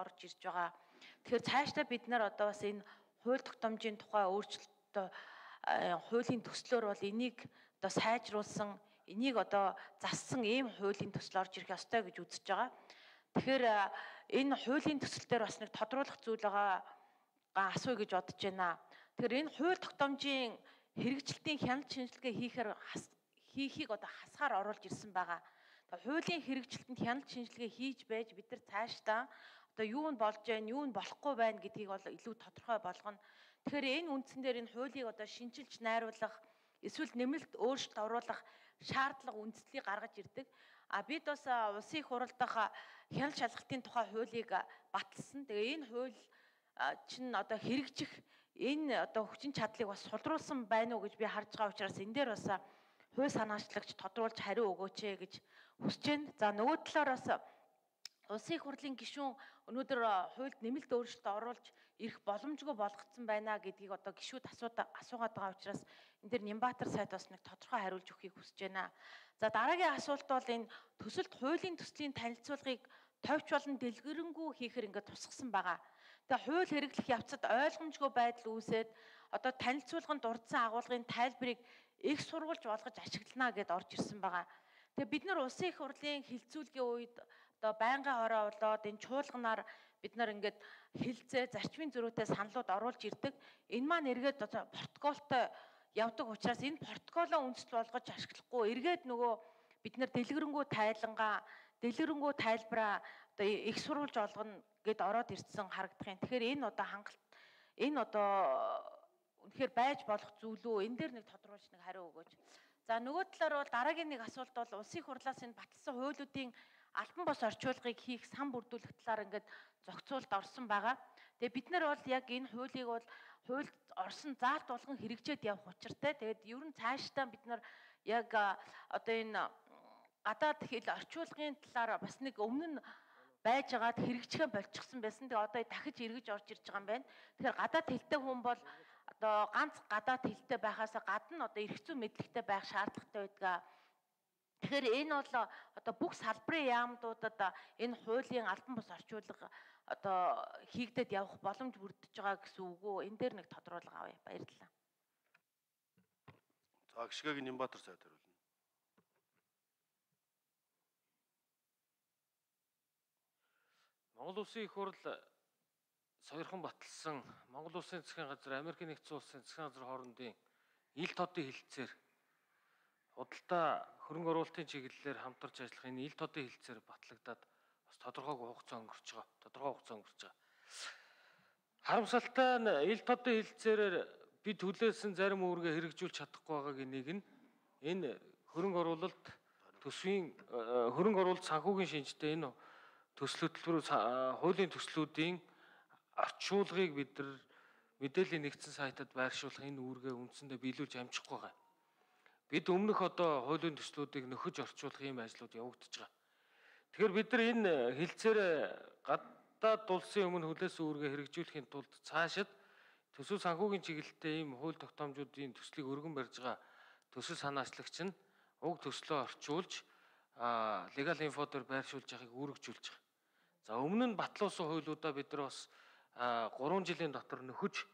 орж ирж байгаа. Тэгэхээр цаашдаа бид нар одоо бас энэ хууль тогтоомжийн тухай өөрчлөлтөө хуулийн төслөөр бол энийг одоо сайжруулсан, энийг одоо зассан ийм хуулийн төсөл орж ирэх ёстой гэж үзэж байгаа. Тэгэхээр энэ хуулийн төсөл дээр бас нэг тодруулах зүйл байгаа асууя гэж бодож байна. Тэгэхээр энэ хууль тогтоомжийн хэрэгжилтийн хяналт шинжилгээ хийхийг одоо хасгаар оруулж ирсэн байгаа. Тэгээ хуулийн хэрэгжилтэнд хяналт шинжилгээ хийж байж бид нар цаашдаа одоо юу нь болж байна, юу нь болохгүй байна гэдгийг бол илүү тодорхой болгоно. Тэгэхээр энэ үндсэн дээр энэ хуулийг одоо шинжилж найруулах, эсвэл нэмэлт өөрчлөлт оруулах шаардлага үндслийг гаргаж ирдэг. Бид бас улсын их хурал дахь хяналт шалгалтын тухай хуулийг баталсан. Тэгээ энэ хууль чинь одоо хэрэгжих энэ одоо хүчин чадлыг бас сулруулсан байна уу гэж би харж байгаа учраас энэ дээр бас хууль санаачлагч тодруулж хариу өгөөч гэж хүсэж байна. За нөгөө талаар бас улсын их хурлын гишүүн өнөөдөр хуульд нэмэлт өөрчлөлт оруулж ирэх боломжгүй болгоцсон байна гэдгийг одоо гишүүд асуугаад байгаа учраас энэ дээр Нямбатар сайд бас нэг тодорхой хариулж өгөхийг хүсэж байна. За дараагийн асуулт бол энэ төсөлд хуулийн төслийн танилцуулгыг товч болон дэлгэрэнгүй хийхээр ингээд тусгасан байгаа. Тэгээ хууль хэрэглэх явцад ойлгомжгүй байдал үүсээд одоо танилцуулганд дурдсан агуулгын тайлбарыг их сурвалж болгож ашиглана гэд орж ирсэн байгаа. Тэгээ бид нар улсын их хурлын хилцүүлгийн үед одоо байнгын хороо болоод энэ чуулганаар бид нар ингээд хилцээ зарчмын зөрүүтэй саналууд оруулж ирдэг. Энэ маань эргээд одоо протоколтой явдаг учраас энэ протоколоо үндэслэл болгож ашиглахгүй эргээд нөгөө бид нар дэлгэрэнгүй тайлбараа одоо их сурвалж олгоно гэд ороод ирсэн харагдах юм. Тэгэхээр энэ одоо энэ одоо үнэхээр байж болох зүйл үү? Энэ дээр нэг тодруулж нэг хариу өгөөч. За нөгөө талаар бол дараагийн нэг асуулт бол улсын их хурлаас энэ баталсан хуулиудын албан бос орчуулгыг хийх сан бүрдүүлэх талаар ингээд зохицуулт орсон байгаа. Тэгээ бид нар бол яг энэ хуулийг бол хуульд орсон заалт болгон хэрэгжээд явах учиртай. Тэгээд ер нь цаашдаа бид нар яг одоо энэ гадаад хэл орчуулгын талаар бас нэг өмнө нь байж байгаад хэрэгжихээ болчихсон байсан. Тэгээ одоо дахиж эргэж орж ирж байгаа юм байна. Тэгэхээр гадаад хэлтэй хүн бол одоо ганц гадаад хэлтэй байхаас гадна одоо эрх зүйн мэдлэгтэй байх шаардлагатай байдаг. Тэгэхээр энэ бол одоо бүх салбарын яамдуудад энэ хуулийн албан бус орчуулга одоо хийгдээд явах боломж бүрдэж байгаа гэсэн үг үү? Энэ дээр нэг тодруулга авъя. Баярлалаа. За гишгээг Нямбатар сайд хариулна. Монгол Улсын их хурл сойрхон баталсан Монгол Улсын засгийн газар, Америкийн нэгдсэн улсын засгийн газар хоорондын ил тодын хэлэлцээр худалдаа хөрөнгө оруулалтын чиглэлээр хамтарч ажиллах энэ ил тодын хэлэлцээр батлагдаад бас тодорхой хугацаа өнгөрч байгаа. Харамсалтай нь ил тодын хэлэлцээрээр бид хүлээсэн зарим үүргээ хэрэгжүүлж чадахгүй байгааг энийг нь энэ хөрөнгө оруулалт төсвийн хөрөнгө оруулалт санхүүгийн шинжтэй энэ хуулийн төслүүдийн орчуулгыг бид нар мэдээллийн нэгдсэн сайтад байршуулах энэ үүргээ үндсэндээ биелүүлж амжихгүй байгаа. Бид өмнөх одоо хуулийн төслүүдийг нөхөж орчуулах ийм ажлууд явагдаж байгаа. Тэгэхээр бид нар энэ хэлцээр гадаад улсын өмнө хүлээсэн үүргээ хэрэгжүүлэхийн тулд цаашид төсөв санхүүгийн чиглэлтэй ийм хууль тогтоомжуудын төслийг өргөн барьж байгаа төсөл санаачлагч нь уг төслөө орчуулж legal info дээр байршуулж байгааг үүргэжүүлж байгаа. За өмнө нь батлуулсан хуулиудаа бид нар бас 3 жилийн дотор нөхөж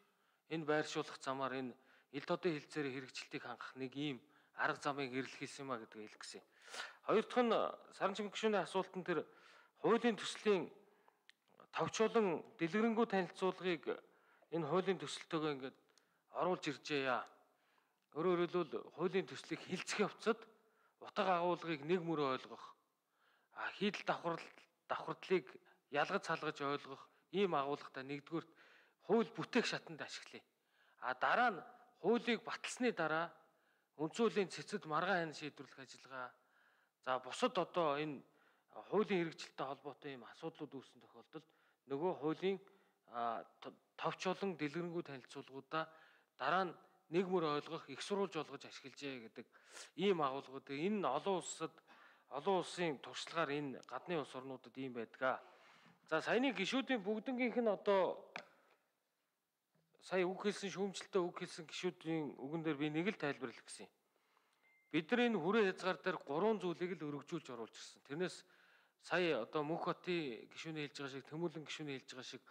энэ байршуулах замаар энэ ил тодын хэлцээрийн хэрэгжилтийг хангах нэг ийм арга замыг нэрлэх хийсэн юма гэдгийг хэлэх гэсэн. Хоёр дахь нь Саран Чимэг гишүүний асуултанд тэр хуулийн төслийн товчолон дэлгэрэнгүй танилцуулгыг энэ хуулийн төсөлтөөгөө ингээд оруулж иржээ яа. Өөрөөр хэлбэл хуулийн төслийг хилцэх явцад утга агуулгыг нэг мөр ойлгох, хийдэл давхардлыг ялгаж салгаж ойлгох ийм агуулгатай нэгдүгээр хууль бүтээх шатанд ашиглая. Дараа нь хуулийг баталсны дараа үндсэн хуулийн цэцэд маргаан хянан шийдвэрлэх ажиллагаа. За бусад одоо энэ хуулийн хэрэгжилттэй холбоотой ийм асуудлууд үүссэн тохиолдолд нөгөө хуулийн товч болон дэлгэрэнгүй танилцуулгуудаа дараа нь нэг мөр ойлгох, их сурвалж болгож ашиглажээ гэдэг ийм агуулгууд. Энэ олон улсын туршлагаар энэ гадны улс орнуудад ийм байдаг. За саяны гишүүдийн бүгднгийнх нь одоо сая үг хэлсэн шүүмжлэлтэй үг хэлсэн гишүүдийн үгэн дээр би нэг л тайлбарлах гэсэн юм. Бид нар энэ хүрээ хязгаар дээр 3 зүйлийг л өргөжүүлж оруулж ирсэн. Тэрнээс сая одоо Мөнх хотын гишүүний хэлж байгаа шиг, Тэмүүлэн гишүүний хэлж байгаа шиг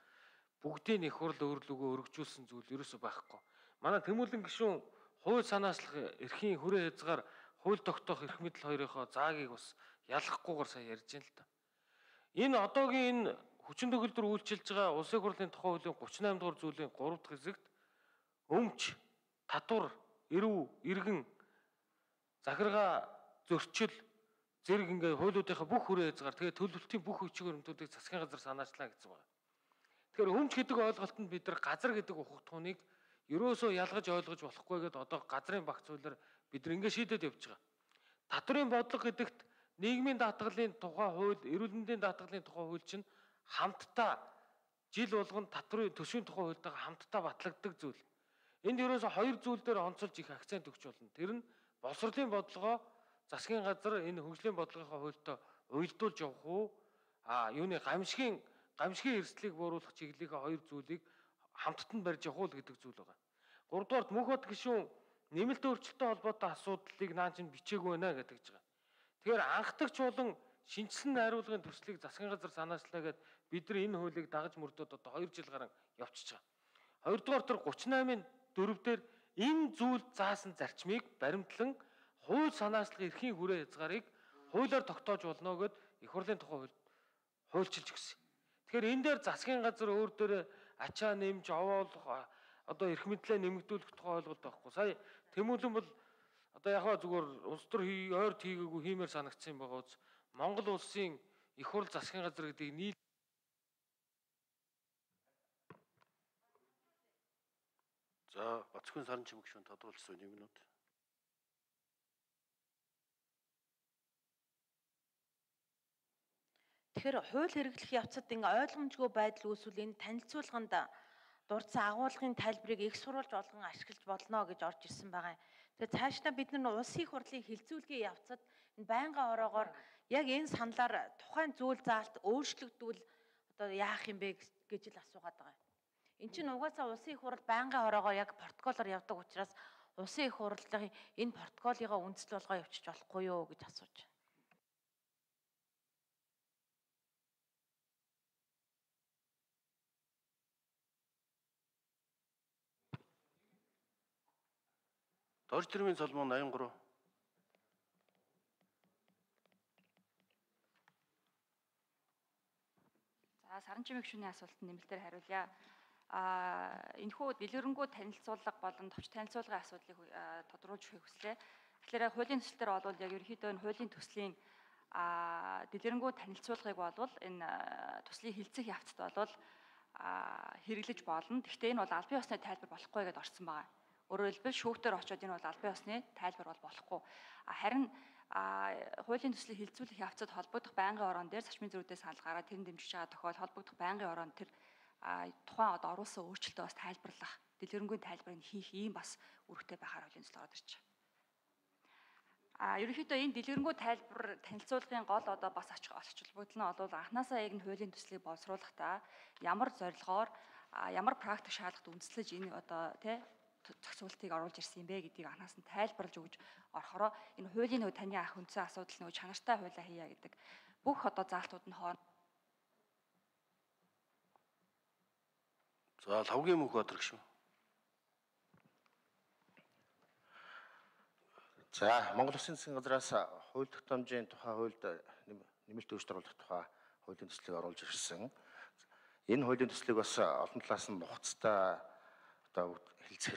бүгдийн их хурл өөрлөгөө өргөжүүлсэн зүйл ерөөсөй байхгүй. Манай Тэмүүлэн гишүүн хууль санаачлах эрхийн хүрээ хязгаар хууль тогтоох эрх мэдэл хоёрынхоо заагийг бас ялгахгүйгээр сая ярьж байна л да. Энэ одоогийн энэ хүчин төгөлдөр үйлчилж байгаа улсын хурлын тухай хуулийн 38 дугаар зүйлийн 3 дахь хэсэгт өмч, татвар, эрүү, иргэн, захиргаа, зөрчил, зэрэг ингээ хуулиудынхаа бүх хүрээ хязгаар тэгээ төлөвлөлтийн бүх хүчин хөрөмтүүдийг засгийн газар санаачлаа гэсэн байна. Тэгэхээр өмч гэдэг ойлголтод бид нар газар гэдэг ухагтхууныг ерөөсөө ялгаж ойлгож болохгүй гэдээ одоо газрын багц хуулиар бид нар ингээ шийдээд явж байгаа. Татврын бодлого гэдэгт нийгмийн даатгалын тухай хууль, эрүүл мэндийн даатгалын тухай хууль чинь хамтдаа жил болгон татврын төсвийн тухай хуультайгаа хамтдаа батлагддаг зүйл. Энд ерөөсөө хоёр зүйл дээр онцолж их акцент өгч болно. Тэр нь боловсролын бодлогоо засгийн газар энэ хөгжлийн бодлогынхаа хуультай уялдуулж явах уу? Юуны гамшигын эрсдлийг бууруулах чиглэлийнхээ хоёр зүйлийг хамтд нь барьж явах уу гэдэг зүйл байгаа. Гуравдугаарт Мөнх хот гишүүн нэмэлт өөрчлөлттэй холбоотой асуудлыг наа чинь бичээгүй байна гэдэг ч байгаа. Тэгэхээр анхдагч болон шинжилсэн найруулгын төслийг засгийн газар санаачлаа гэд бид нар энэ хуулийг дагаж мөрдөөд одоо 2 жил гарan явчихж байгаа. Хоёрдугаар тэр 38-ын 4 дээр энэ зүйл заасан зарчмыг баримтлан хууль санаачлах эрхийн хүрээ хязгаарыг хуулиар тогтоож болно гэд их хурлын тухай хуульчилж өгсөн. Тэгэхээр энэ дээр засгийн газар өөр дээрээ ачаа нэмж овоолох одоо эрх мэдлээ нэмэгдүүлэх тухай ойлголт байхгүй. Сая Тэмүүлэн бол одоо яхаа зүгээр улс төр ойрт хийгээгүй хиймээр санагдсан байгаа үз. Монгол улсын их хурл засгийн газар гэдгийг нийл За, Бацхан Саранчим гишүүн тодруулсан 1 минут. Тэгэхээр хууль хэрэглэх явцад ойлгомжгүй байдал үүсвэл энэ танилцуулганд дурдсан агуулгын тайлбарыг их сурвалж болгон ашиглаж болно гэж орж ирсэн байгаа юм. Тэгэхээр цаашдаа бид нар улсын их хурлын хилцүүлгийн явцад энэ байнгын ороогоор яг энэ саналаар тухайн зүйл заалт өөрчлөгдвөл одоо яах юм бэ гэж л асуугаад байгаа юм. Эн чинь угаасаа улсын их хурл байнгын ороогоор яг протоколоор явдаг учраас улсын их хурлын энэ протоколыгоо үндэслэл болгоо явуулчих болохгүй юу гэж асууж байна. Дорж тэрмийн Соломон 83. За, Саранчим гишүүний асуултанд нэмэлтээр хариулъя. Энэхүү дэлгэрэнгүй танилцуулга болон товч танилцуулгын асуудлыг тодруулж өгөхийг хүслээ. Тэгэхээр хуулийн төсөл дээр бол яг ерөнхийдөө энэ хуулийн төслийн дэлгэрэнгүй танилцуулгыг бол энэ төслийн хилцэх явцад бол хэрэглэж болно. Гэхдээ энэ бол албан ёсны тайлбар болохгүй гэдээ орсон байгаа. Өөрөөр хэлбэл шүүхтэр очоод энэ бол албан ёсны тайлбар бол болохгүй. Харин хуулийн төслийг хилцүүлэх явцад холбогдох байнгын орон дээр зарчмын зөрүүдээ санал гараад тэр дэмжиж байгаа тохиол холбогдох байнгын орон тэр тухайн одоо оруулсан өөрчлөлтөө бас тайлбарлах, дэлгэрэнгүй тайлбарыг хийх ийм бас үүрэгтэй байхаар хуулийн төсөл ороод ирж байгаа. Ерөнхийдөө энэ дэлгэрэнгүй тайлбар танилцуулгын гол одоо бас оч холбогдол нь бол анханасаа яг энэ хуулийн төслийг боловсруулахдаа ямар зорилгоор ямар практик шаардлагад үндэслэж энэ одоо тий зохицуултыг оруулж ирсэн юм бэ гэдгийг анхаас нь тайлбарлаж өгж орохороо энэ хуулийн нөгөө таны ах үндсэн асуудал нөгөө чанартай хуулиа хийя гэдэг бүх одоо заалтууд нь хооронд. За, Лавгийн Мөнх Баатар гишүүн. За, Монгол Улсын засгийн газраас хууль тогтоомжийн тухай хуульд нэмэлт өөрчлөлт оруулах тухай хуулийн төслийг оруулж ирсэн. Энэ хуулийн төслийг бас олон талаас нь нухацтай одоо хэлцэх